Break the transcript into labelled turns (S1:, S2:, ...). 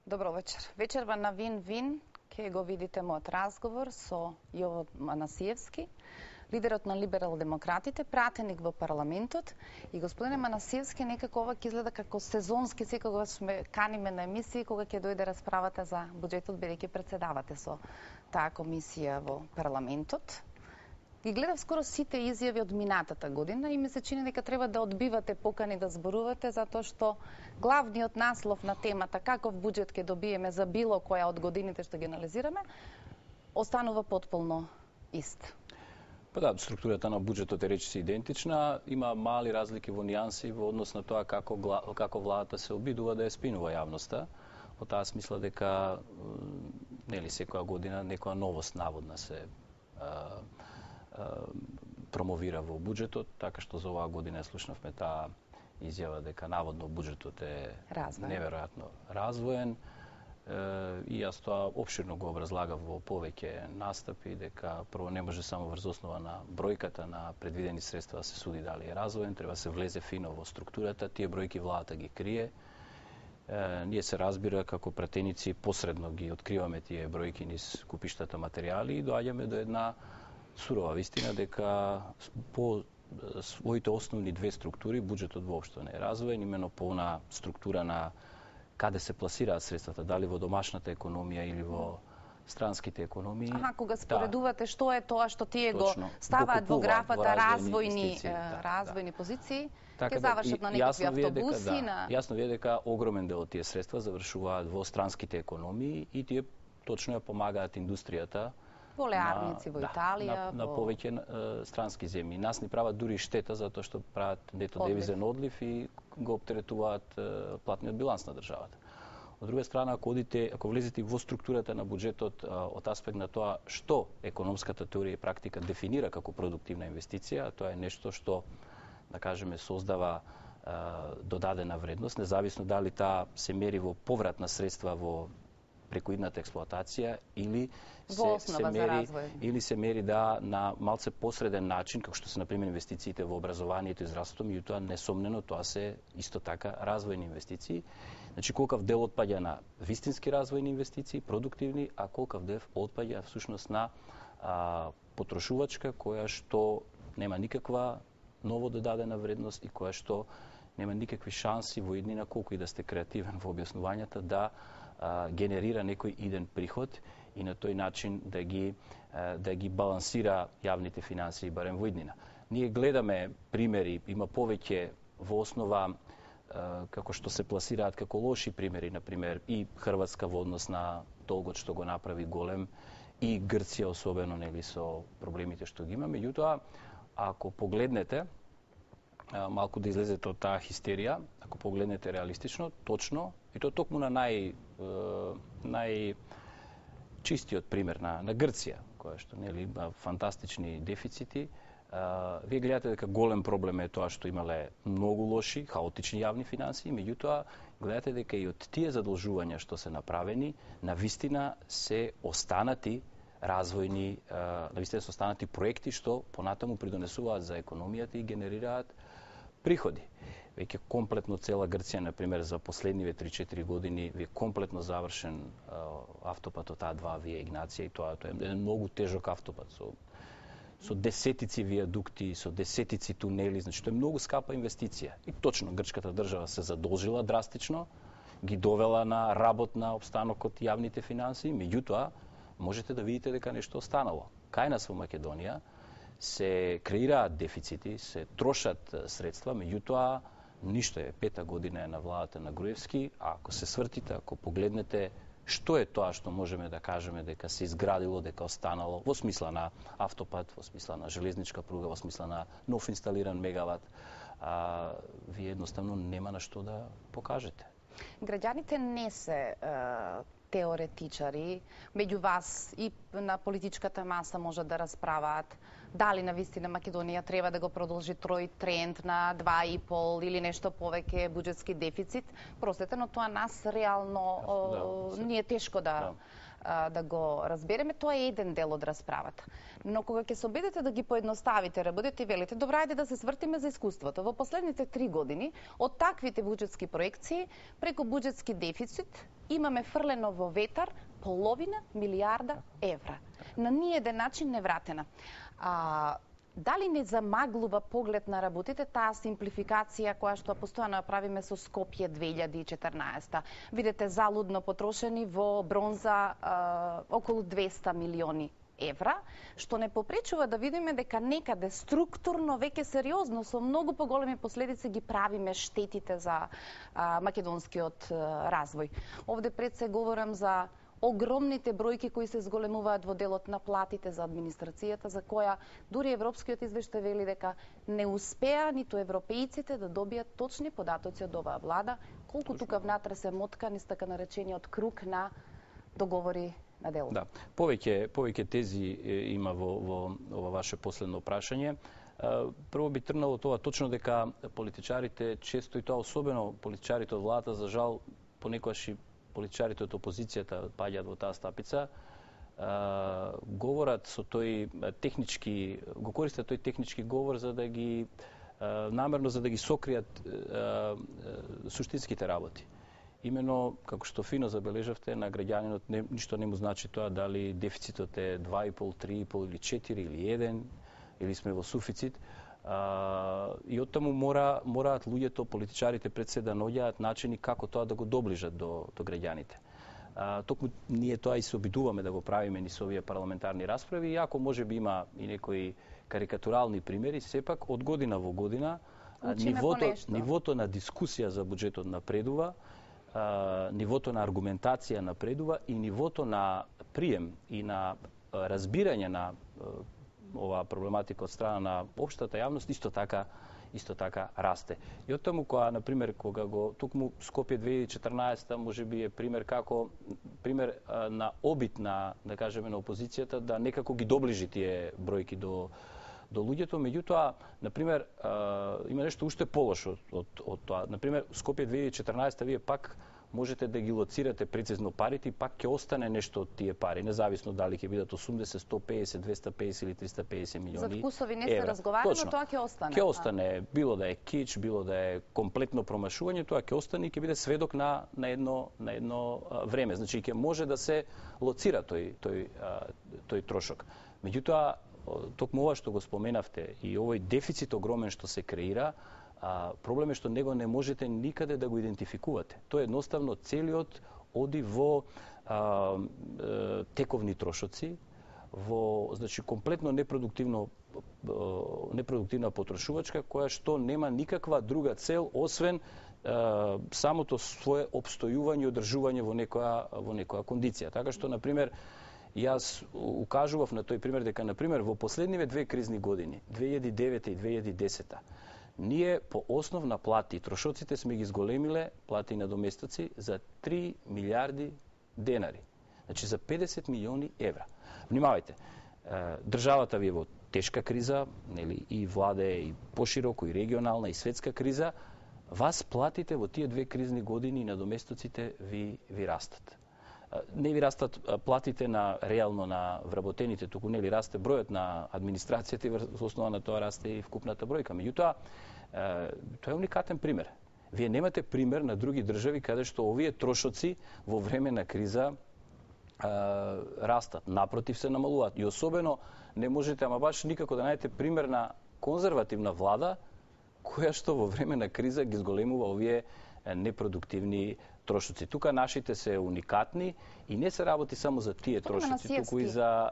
S1: Добро вечер. Вечерва на Вин-Вин ќе го видите мојот разговор со Јово Манасиевски, лидерот на либерал-демократите, пратеник во парламентот. И господине Манасиевски, некако ова ќе изгледа како сезонски, секогаш ме каниме на емисии кога ќе дојде расправата за буџетот, бидејќи претседавате со таа комисија во парламентот. Ги гледав скоро сите изјави од минатата година и ми се чини дека треба да одбивате покани да зборувате, затоа што главниот наслов на темата каков буџет ќе добиеме за било која од годините што ги анализираме, останува потполно ист.
S2: Па да, структурата на буџетот е речиси идентична, има мали разлики во нијанси во однос на тоа како владата се обидува да ја спинува јавноста. Во таа смисла дека нели секоја година некоја новост наводна се промовира во буџетот, така што за оваа година слушнавме таа изјава дека наводно буџетот е неверојатно развоен. И јас тоа опширно го образлагав во повеќе настапи, дека прво не може само врз основа на бројката на предвидени средства да се суди дали е развоен, треба се влезе фино во структурата, тие бројки владата ги крие. Ние се разбира како пратеници посредно ги откриваме тие бројки низ купиштата материјали и доаѓаме до една сурова вистина дека по своите основни две структури буџетот воопшто не е развоен, именно по она структура на каде се пласираат средствата, дали во домашната економија или во странските економии.
S1: Кога споредувате што е тоа што тие го ставаат во графата развојни позиции, ќе завршат на некакви автобуси.
S2: Јасно ви е дека огромен дел од тие средства завршуваат во странските економии и тие точно ја помагаат индустријата
S1: полеарници во Италија,
S2: на повеќе странски земји. Нас ни прават дури штета затоа што прават нето девизен одлив и го оптеретуваат платниот биланс на државата. Од друга страна, ако влезете во структурата на буџетот од аспект на тоа што економската теорија и практика дефинира како продуктивна инвестиција, тоа е нешто што, да кажеме, создава додадена вредност, независно дали таа се мери во поврат на средства во преку идната експлоатација или се мери на малце посреден начин, како што се например инвестициите во образованието и здравството, меѓутоа несомнено тоа се исто така развојни инвестиции. Значи колкав дел отпаѓа на вистински развојни инвестиции, продуктивни, а колкав дел отпаѓа всушност на потрошувачка која што нема никаква ново додадена вредност и која што нема никакви шанси во иднина, колку и да сте креативен во објаснувањата, да генерира некој иден приход и на тој начин да ги балансира јавните финансии барем во иднина. Ние гледаме примери, има повеќе во основа како што се пласираат како лоши примери, например и Хрватска во однос на долгот што го направи голем и Грција особено нели со проблемите што ги има. Меѓутоа, ако погледнете малку да излезете од таа хистерија, ако погледнете реалистично, точно, и тоа токму на најчистиот пример на Грција, која што нели има фантастични дефицити, вие гледате дека голем проблем е тоа што имале многу лоши, хаотични јавни финансии, меѓутоа гледате дека и од тие задолжувања што се направени, навистина се останати развојни, навистина се останати проекти што понатаму придонесуваат за економијата и генерираат приходи. Веќе комплетно цела Грција, например, за последниве 3-4 години, ви е комплетно завршен автопатот А2 вие Игнација и тоа е еден многу тежок автопат со десетици виадукти, со десетици тунели, значи тоа е многу скапа инвестиција. И точно грчката држава се задолжила драстично, ги довела на работ на обстанокот јавните финансии, меѓутоа можете да видите дека нешто останало. Кај нас во Македонија се креираат дефицити, се трошат средства, меѓутоа ништо е. 5-та година е на владата на Груевски, а ако се свртите, ако погледнете што е тоа што можеме да кажеме дека се изградило, дека останало, во смисла на автопат, во смисла на железничка пруга, во смисла на нов инсталиран мегават, вие едноставно нема на што да покажете.
S1: Граѓаните не се теоретичари, меѓу вас и на политичката маса може да расправаат дали навистина Македонија треба да го продолжи трој тренд на 2,5 или нешто повеќе буџетски дефицит. Простете, но тоа нас реално ни е тешко да да го разбереме, тоа е еден дел од расправата. Но кога ќе се обидете да ги поедноставите, работите и велите, добра, ајде да се свртиме за искуството. Во последните 3 години, од таквите буџетски проекции, преку буџетски дефицит, имаме фрлено во ветар половина милиарда евра. На ниеден начин не вратена. Дали не замаглува поглед на работите таа симплификација која што постојано ја правиме со Скопје 2014? Видете залудно потрошени во бронза околу 200 милиони евра, што не попречува да видиме дека некаде структурно, веќе сериозно, со многу поголеми последици ги правиме штетите за македонскиот развој. Овде пред се говорам за огромните бројки кои се зголемуваат во делот на платите за администрацијата, за која дури европскиот извештај вели дека не успеа ниту европејците да добијат точни податоци од оваа влада, колку тука внатре се моткани така наречениот круг на договори на дело.
S2: Да, повеќе тези има во ова ваше последно прашање. Прво би тргнало тоа точно дека политичарите често, и тоа особено политичарите од владата, за жал понекогаш и политичарите од опозицијата паѓаат во таа стапица, говорат со тој технички, го користат тој технички говор за да ги намерно за да ги сокријат суштинските работи. Имено, како што фино забележавте, на граѓанинот ништо не му значи тоа дали дефицитот е 2,5, 3,5 или 4 или 1 или сме во суфицит. И оттаму мораат луѓето, политичарите пред се да наоѓаат начини како тоа да го доближат до граѓаните. Токму ние тоа и се обидуваме да го правиме ни со овие парламентарни расправи, иако можеби има и некои карикатурални примери, сепак од година во година нивото на дискусија за буџетот напредува, нивото на аргументација напредува и нивото на прием и на разбирање на оваа проблематика од страна на општата јавност исто така расте. И оттаму кога го токму Скопје 2014 можеби е пример на обид на, да кажеме, на опозицијата да некако ги доближи тие бројки до луѓето, меѓутоа, например, има нешто уште полошо од тоа. Например, Скопје 2014 вие пак можете да ги лоцирате прецизно парите и пак ќе остане нешто од тие пари, независно дали ќе бидат 80, 150, 250 или 350 милиони евра.
S1: За вкусови не се разговара, но тоа ќе остане.
S2: Ќе остане, било да е кич, било да е комплетно промашување, тоа ќе остане и ќе биде сведок на едно време. Значи ќе може да се лоцира тој трошок. Меѓутоа, токму ова што го споменавте и овој дефицит огромен што се креира, проблем е што него не можете никаде да го идентификувате. Тоа едноставно целиот оди во тековни трошоци, во комплетно непродуктивна потрошувачка која што нема никаква друга цел освен самото свое обстојување и одржување во некоја кондиција. Така што, например, јас укажував на тој пример дека, например, во последниве 2 кризни години, 2009 и 2010, ние по основ на плати и трошоците сме ги зголемиле плати и надоместоци за 3 милиарди денари. Значи за 50 милиони евра. Внимавајте, државата ви е во тешка криза, нели, и владе, и пошироко, и регионална, и светска криза. Вас платите во тие 2 кризни години и надоместоците ви растат. Не ви растат платите реално на вработените, туку нели расте бројот на администрацијата и во основа на тоа расте и вкупната бројка. Меѓутоа, тоа е уникатен пример. Вие немате пример на други држави каде што овие трошоци во време на криза растат, напротив се намалуваат. И особено не можете, ама баш никако да најдете пример на конзервативна влада која што во време на криза ги зголемува овие непродуктивни трошоци. Тука нашите се уникатни и не се работи само за тие трошоци, туку и за